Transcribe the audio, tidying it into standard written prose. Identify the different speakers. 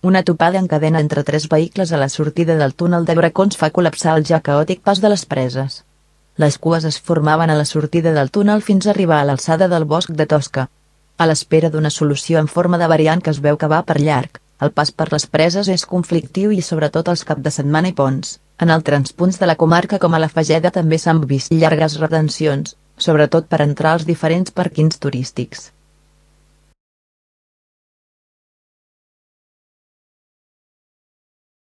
Speaker 1: Una topada en cadena entre 3 vehicles a la sortida del túnel de Bracons fa col·lapsar el ja caòtic pas de les Preses. Les cues es formaven a la sortida del túnel fins a arribar a l'alçada del Bosc de Tosca. A l'espera d'una solució en forma de variant que es veu que va per llarg, el pas per les Preses és conflictiu i sobretot els caps de setmana i ponts. En altres punts de la comarca com a la Fageda també s'han vist llargues retencions, sobretot per entrar als diferents pàrquings turístics.